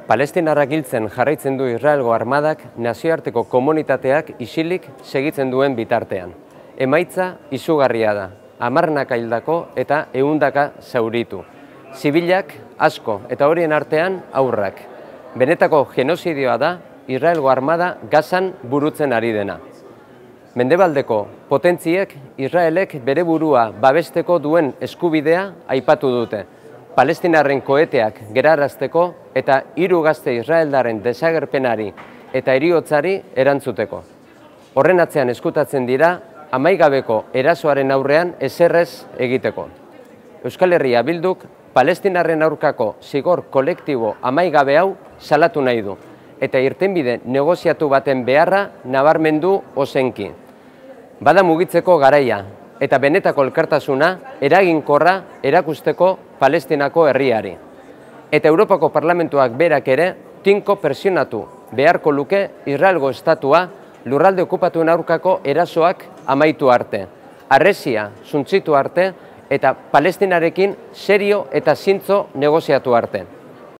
Palestinarrak hiltzen jarraitzen du Israelgo armadak nazioarteko komunitateak isilik segitzen duen bitartean. Emaitza izugarria da, 10 hildako eta 100 zauritu. Zibilak asko eta horien artean haurrak. Benetako genozidioa da Israelgo armada Gazan burutzen ari dena. Mendebaldeko potentziek Israelek bere burua babesteko duen eskubidea aipatu dute. Palestinarren koeteak gerarazteko eta 3 gazte israeldaren desagerpenari eta heriotzari erantzuteko. Horren atzean eskutatzen dira amaigabeko erasoaren aurrean ezerrez egiteko. Euskal Herria Bilduk Palestinarren aurkako zigor kolektibo amaigabe hau salatu nahi du eta irtenbide negoziatu baten beharra nabarmendu ozenki. Bada mugitzeko garaia eta benetako elkartasuna eraginkorra erakusteko Palestinako herriari. Eta Europako Parlamentuak berak ere tinko presionatu beharko luke Israelgo estatua lurralde okupatuen aurkako erasoak amaitu arte, harresia suntzitu arte eta Palestinarekin serio eta zintzo negoziatu arte.